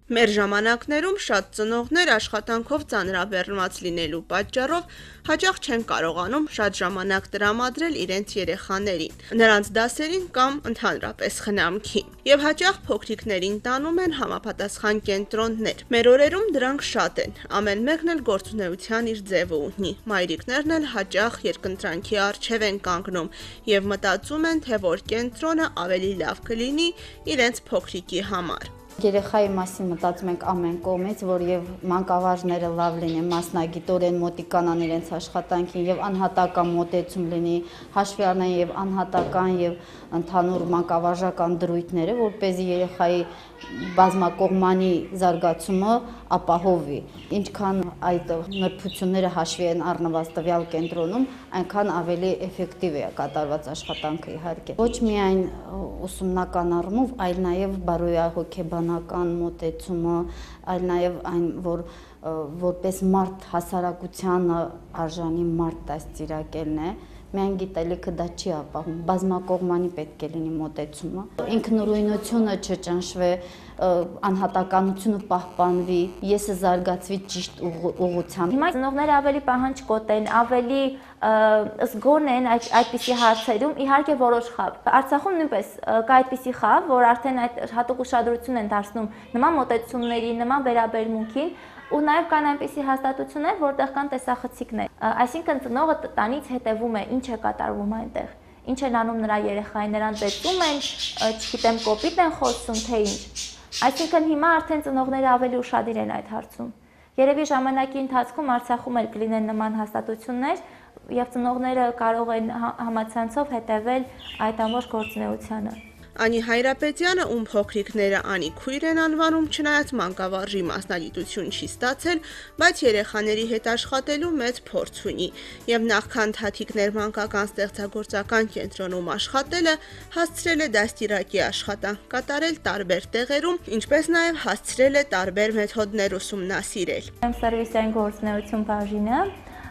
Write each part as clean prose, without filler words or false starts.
Մեր ժամանակներում շատ ծնողներ աշխատանքով ծանրաբեռնված լինելու պատճառով հաճախ չեն կարողանում շատ ժամանակ տրամադրել իրենց երեխաներին, նրանց դասերին կամ ընդհանրապես խնամքին, եւ հաճախ փոքրիկներին տանում են համապատասխան կենտրոններ։ Մեր օրերում դրանք շատ են, ամեն մեկն էլ գործունեության իր ձևը ունի։ Մայրիկներն էլ հաճախ երկընտրանքի առջև են կանգնում եւ մտածում են, թե որ կենտրոնը ավելի լավ կլինի իրենց փոքրիկի համար։ Երեխայի մասին մտածում ենք ամեն կողմից, որ եւ մանկավարժները լավ լինեն, մասնագիտորեն մոտիկանան իրենց աշխատանքին եւ անհատական մոտեցում լինի, հաշվի առնեն եւ անհատական եւ ընդհանուր մանկավարժական դրույթները, որպեսզի երեխայի բազմակողմանի զարգացումը ապահովի։ Ինչքան այդ նրբությունները հաշվի են առնված տվյալ կենտրոնում, այնքան ավելի էֆեկտիվ է կատարված աշխատանքը իհարկե։ Ոչ միայն ուսումնական առումով, այլ նաեւ բարոյահոգեբանական մոտեցումը, այլ նաեւ այն, որ որպես մարդ հասարակությանը արժանի մարդ դաստիարակելն է, միայն գիտելիքը դա չի ապահովում, բազմակողմանի պետք է լինի մոտեցումը, ինքնուրույնությունը չճնշվի, անհատականությունը պահպանվի, եսը զարգացվի ճիշտ ուղղությամբ։ Հիմա ծնողները ավելի պահանջկոտ են, ավելի զգոն են այդպիսի հարցերում, իհարկե որոշ խավ։ Արցախում նույնպես կա այդպիսի խավ, որ արդեն այդ հատուկ ուշադրություն են դարձնում նման մոտեցումների, նման վերաբերմունքին, ու նաև կան այնպիսի հաստատություններ, որտեղ կան տեսախցիկներ։ Այսինքն ծնողը տնից հետևում է, ինչ է կատարվում այնտեղ, ինչ են անում նրա երեխային, նրան ծեծում են, չգիտեմ, կոպիտ են խոսում, թե ինչ։ Այսինքն հիմա արդեն ծնողները ավելի ուշադիր են այդ հարցում։ Երևի ժամանակի ընթացքում Արցախում էլ կլինեն նման հաստատություններ, եւ ծնողները կարող են համացանցով հետևել այդ ամբողջ գործունեությանը։ Անի Հայրապետյանը, ում փոքրիկները Անի քույր են անվանում, չնայած մանկավարժի մասնագիտություն չի ստացել, բայց երեխաների հետ աշխատելու մեծ փորձ ունի, եւ նախքան Թաթիկներ մանկական ստեղծագործական կենտրոնում աշխատելը, հասցրել է դաստիարակի աշխատանք կատարել տարբեր տեղերում, ինչպես նաեւ հասցրել է տարբեր մեթոդներ ուսումնասիրել։ Սերվիսային գործունեություն բաժինը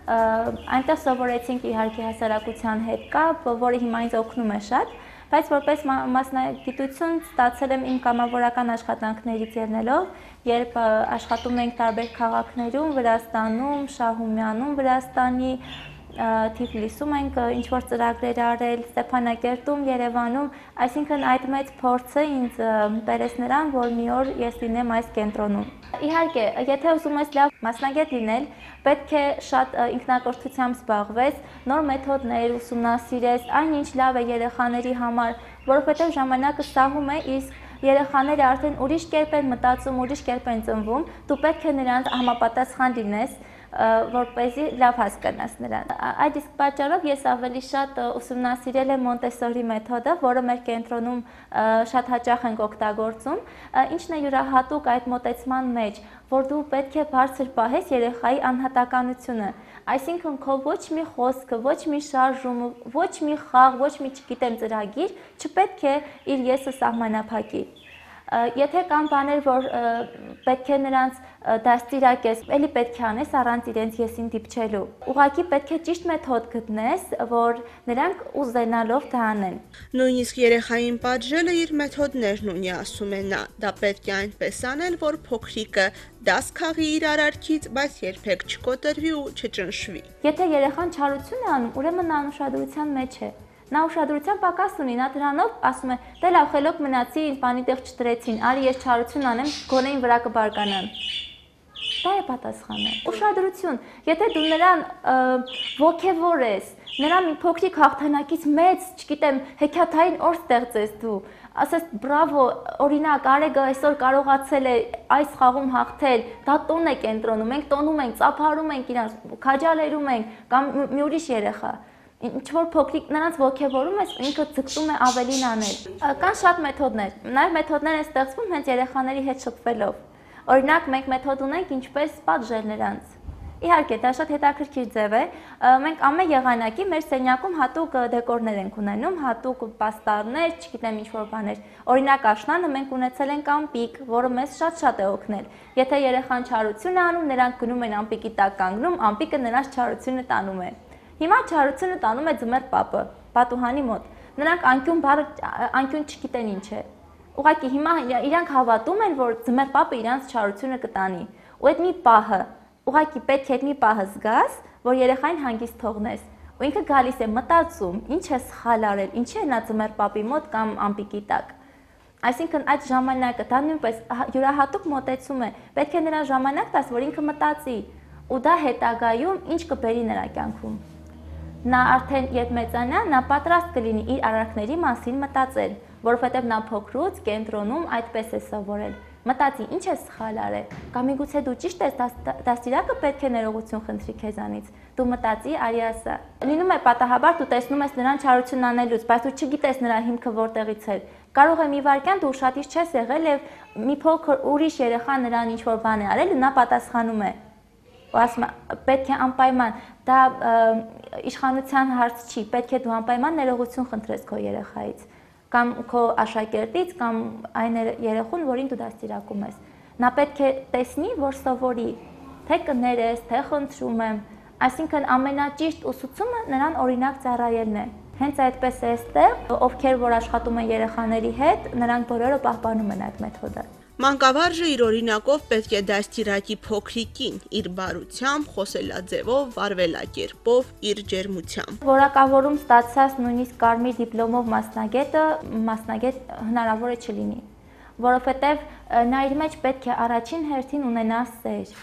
այնտեղ սովորեցինք իհարկե հասարակության հետ կապ, որը հիմա ինձ օգնում է շատ, բայց որպես մասնագիտություն ստացել եմ իմ կամավորական աշխատանքներից ելնելով, երբ աշխատում ենք տարբեր քաղաքներում, Վրաստանում, Շահումյանում, Վրաստանի, Թիֆլիսում ենք ինչ-որ ծրագրեր արել, Ստեփանակերտում, Երևանում, այսինքն այդ մեծ փորձը ինձ բերեց նրան, որ մի օր ես լինեմ այս կենտրոնում։ Իհարկե, եթե ուզում ես լավ մասնագետ լինել, պետք է շատ ինքնակրթությամբ զբաղվես, նոր մեթոդներ ուսումնասիրես, այնինչ լավ է երեխաների համար, որովհետև ժամանակը սահում է, իսկ երեխաները արդեն ուրիշ կերպ են մտածում, ուրիշ կերպ են ծնվում, դու պետք է նրանց համապատասխան լինես, որպեսզի լավ հասկանաս նրան։ Այդ իսկ պատճառով ես ավելի շատ ուսումնասիրել եմ Մոնտեսորի մեթոդը, որը մեր կենտրոնում շատ հաճախ ենք օգտագործում, ինչն է յուրահատուկ այդ մոտեցման մեջ, որ դու պետք է բարձր պահես երեխայի անհատականությունը, այսինքն քո ոչ մի խոսքը, ոչ մի շարժումը, ոչ մի խաղ, ոչ մի չգիտեմ ծրագիր չպետք է իր եսը սահմանափակի։ Եթե կան բաներ, որ պետք է նրանց դաստիարակես, էլի պետք է անես առանց իրենց եսին դիպչելու։ Ուղղակի պետք է ճիշտ մեթոդ գտնես, որ նրանք ուզենալով դա անեն։ Նույնիսկ երեխային պատժելը իր մեթոդներն ունի, ասում է նա, դա պետք է այնպես անել, որ փոքրիկը դաս քաղի իր արարքից, բայց երբեք չկոտրվի ու չճնշվի։ Եթե երեխան չարություն է անում, ուրեմն նա անուշադրության մեջ է։ Նա ուշադրության պակաս ունի, նա դրանով ասում է, դե լավ, խելոք մնացի, ինձ բանի տեղ չտրեցին, արի ես չարություն անեմ, գոնե վրա կբարկանան։ Դա է պատասխանը։ Ուշադրություն, եթե դու նրան ոգևորես, նրան մի փոքրիկ հաղթանակից մեծ, չգիտեմ, հեքիաթային օր ստեղծես դու, ասես բրավո, օրինակ Արեգը այսօր կարողացել է այս խաղում հաղթել, դա տոն է կենտրոնում, մենք տոնում ենք, ծափարում ենք իրանց, քաջալերում ենք, կամ մի ուրիշ երեխա։ Ինչ-որ փոքրիկ նրանց ոգևորում ես, ինքը ձգտում է ավելին անել։ Կան շատ մեթոդներ, նաև մեթոդներ են ստեղծվում հենց երեխաների հետ շփվելով։ Օրինակ, մենք մեթոդ ունենք ինչպես պատժել նրանց։ Իհարկե, դա շատ հետաքրքիր ձև է։ Մենք ամեն եղանակի մեր սենյակում հատուկ դեկորներ ենք ունենում, հատուկ պաստառներ, չգիտեմ ինչ-որ բաներ։ Օրինակ, աշնանը մենք ունեցել ենք ամպիկ, որը մեզ շատ է օգնել։ Եթե երեխան չարություն է անում, նրանք գնում են ամպիկի տակ կանգնում, ամպիկը նրանց չարությունը տանում է։ Հիմա չարությունը տանում է ձմեռ պապը, պատուհանի մոտ։ Նրանք անկյուն չգիտեն ինչ է։ Ուղղակի հիմա իրանք հավատում են, որ ձմեռ պապը իրանց չարությունը կտանի։ Ու այդ մի պահը, ուղղակի պետք է այդ մի պահը զգաս, որ երեխային հանգիստ թողնես։ Ու ինքը գալիս է մտածում, ինչ է սխալ արել, ինչի է նա ձմեռ պապի մոտ կամ ամպիկի տակ։ Այսինքն այդ ժամանակը դա նույնպես յուրահատուկ մոտեցում է։ Պետք է նրան ժամանակ տաս, որ ինքը մտածի, ու դա հետագայում ինչ կբերի նրա կյանքում։ Նա արդեն երբ մեծանա, նա պատրաստ կլինի իր արարքների մասին մտածել, որովհետև նա փոքրուց կենտրոնում այդպես է սովորել։ Մտածի, ինչ է սխալ արել, կամ միգուցե դու ճիշտ ես, դաստիարակը պետք է ներողություն խնդրի քեզանից։ Դու մտածի, արի ասա։ Լինում է պատահաբար դու տեսնում ես նրան չարություն անելուց, բայց դու չգիտես նրա հիմքը որտեղից է։ Կարող է մի վայրկյան դու ուշադիր չես եղել եւ մի փոքր ուրիշ երեխա նրան ինչ որ բան է արել ու նա պատասխանում է։ Ու ասում է, պետք է անպայման, դա իշխանության հարց չի, պետք է դու անպայման ներողություն խնդրես քո երեխայից կամ քո աշակերտից կամ այն երեխուն, որին դու դաստիարակում ես։ Նա պետք է տեսնի, որ սովորի, թե կներես, թե խնդրում եմ, այսինքն ամենաճիշտ ուսուցումը նրան օրինակ ծառայելն է։ Հենց այդպես է այստեղ, ովքեր որ աշխատում են երեխաների հետ, նրանք բոլորը պահպանում են այդ մեթոդը։ Մանկավարժը իր օրինակով պետք է դաստիարակի փոքրիկին իր բարությամբ, խոսելաձևով, վարվելակերպով, իր ջերմությամբ։ Որակավորում ստացած նույնիսկ կարմիր դիպլոմով մասնագետ հնարավոր է չլինի, որովհետև նա իր մեջ պետք է առաջին հերթին ունենա սեր,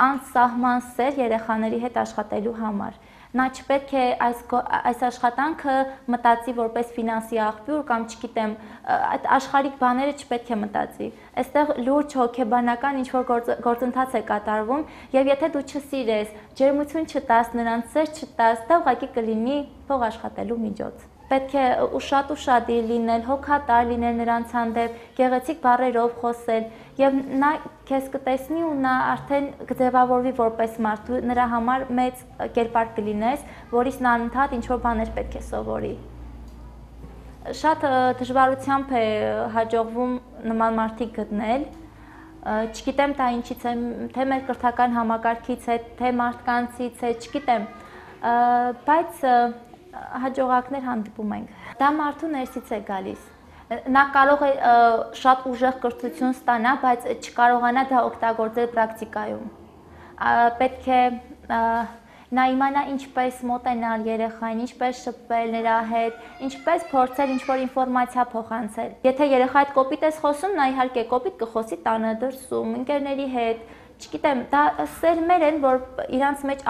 անսահման սեր երեխաների հետ աշխատելու համար։ Նա չպետք է այս աշխատանքը մտածի որպես ֆինանսի աղբյուր կամ չգիտեմ, այդ աշխարհիկ բաները չպետք է մտածի։ Այստեղ լուրջ հոգեբանական ինչ-որ գործընթաց է կատարվում, եւ եթե դու չսիրես, ջերմություն չտաս, նրանց սեր չտաս, դա ուղղակի կլինի փող աշխատելու միջոց։ Պետք է ուշադիր լինել, հոգատար լինել նրանց հանդեպ, գեղեցիկ բառերով խոսել, եւ նա քեզ կտեսնի ու նա արդեն կձևավորվի որպես մարդ, դու նրա համար մեծ կերպար կլինես, որից նա անընդհատ ինչ-որ բաներ պետք է սովորի։ Շատ դժվարությամբ է հաջողվում նման մարդիկ գտնել, չգիտեմ դա ինչից է, թե մեր կրթական համակարգից է, թե մարդկանցից է, չգիտեմ, բայց հաջողակներ հանդիպում ենք։ Դա մարդու ներսից է գալիս։ Նա կարող է շատ ուժեղ կրթություն ստանա, բայց չկարողանա դա օգտագործել պրակտիկայում։ Պետք է նա իմանա ինչպես մոտենալ երեխային, ինչպես շփվել նրա հետ, ինչպես փորձել ինչ-որ ինֆորմացիա փոխանցել։ Եթե երեխայի հետ կոպիտ ես խոսում, նա իհարկե կոպիտ կխոսի տանը դրսում, ընկերների հետ, չգիտեմ, դա սերմեր են, որ իրանց մեջ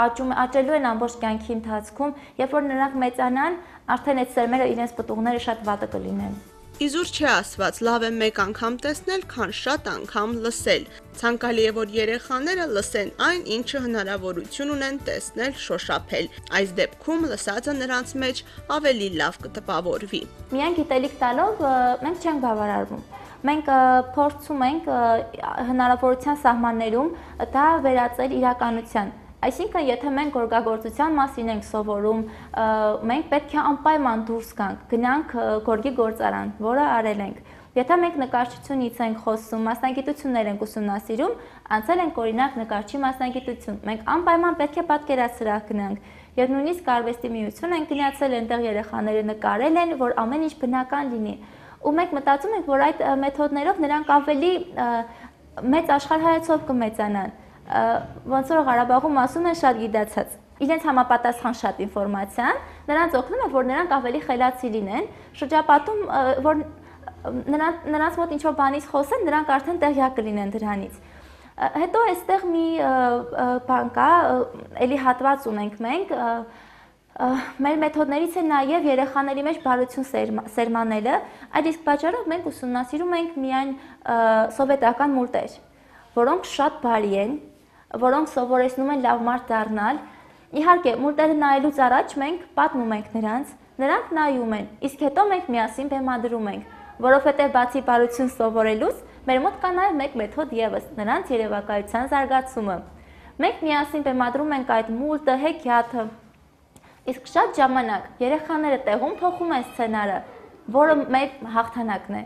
աճելու են ամբողջ կյանքի ընթացքում, երբ որ նրանք մեծանան, արդեն այդ սերմերը իրենց պտուղները շատ վատը կլինեն։ Իզուր չի ասված, լավ է մեկ անգամ տեսնել, քան շատ անգամ լսել։ Ցանկալի է, որ երեխաները լսեն այն, ինչը հնարավորություն ունեն տեսնել, շոշափել։ Այս դեպքում լսածը նրանց մեջ ավելի լավ կտպավորվի։ Միայն գիտելիք տալով մենք չենք բավարարվում։ Մենք փորձում ենք հնարավորության սահմաններում դա վերածել իրականության։ Այսինքն, եթե մենք գորգագործության մասին ենք սովորում, մենք պետք է անպայման դուրս գանք, գնանք գորգի գործարան, որը արել ենք։ Եթե մենք նկարչությունից ենք խոսում, մասնագիտություններ ենք ուսումնասիրում, անցել ենք օրինակ նկարչի մասնագիտություն, մենք անպայման պետք է պատկերասրահ գնանք։ Եվ նույնիսկ արվեստի միություն ենք գնացել, այնտեղ երեխաները նկարել են, որ ամեն ինչ բնական լինի։ Ու մենք մտածում ենք, որ այդ մեթոդներով նրանք ավելի մեծ աշխարհայացով կմեծանան։ Ոնց որ Ղարաբաղում ասում են շատ գիտացած։ Իրենց համապատասխան շատ ինֆորմացիան նրանց օգնում է, որ նրանք ավելի խելացի լինեն, շրջապատում, որ նրանց մոտ ինչ-որ բանից խոսեն, նրանք արդեն տեղյակ կլինեն դրանից։ Հետո այստեղ մի բան կա, էլի հատված ունենք մենք, մեր մեթոդներից է նաև երեխաների մեջ բարություն սերմանելը, այդ իսկ պատճառով մենք ուսումնասիրում ենք միայն սովետական մուլտեր, որոնք շատ բարի են, որոնք սովորեցնում են լավ մարդ դառնալ։ Իհարկե, մուլտերը նայելուց առաջ մենք պատմում ենք նրանք նայում են, իսկ հետո մենք միասին բեմադրում ենք, որովհետև բացի բարություն սովորելուց, մեր մոտ կա նաև մեկ մեթոդ ևս, նրանց երևակայության զարգացումը։ Մենք միասին բեմադրում ենք այդ մուլտը, հեքիաթը, իսկ շատ ժամանակ երեխաները տեղում փոխում են սցենարը, որը մեր հաղթանակն է։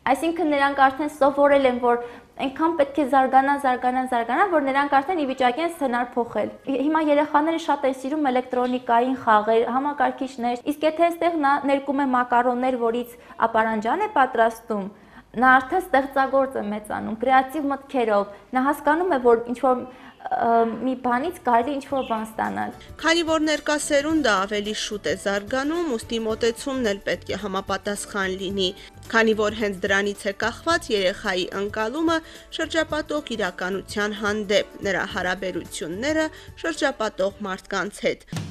Այսինքն նրանք արդեն սովորել են, որ այնքան պետք է զարգանան, որ նրանք արդեն ի վիճակի են սցենար փոխել։ Հիմա երեխաները շատ են սիրում էլեկտրոնիկային խաղեր, համակարգիչներ, իսկ եթե այստեղ նա ներկում է մակարոններ, որից ապարանջան է պատրաստում, նա արդեն ստեղծագործ է մեծանում, կրեատիվ մտքերով, նա հասկանում է, որ ինչ-որ մի բանից կարելի ինչ-որ բան ստանալ։ Քանի որ ներկա սերունդը ավելի շուտ է զարգանում, ուստի մոտեցումն էլ պետք է համապատասխան լինի, քանի որ հենց դրանից է կախված երեխայի ընկալումը շրջապատող իրականության հանդեպ, նրա հարաբերությունները շրջապատող մարդկանց հետ։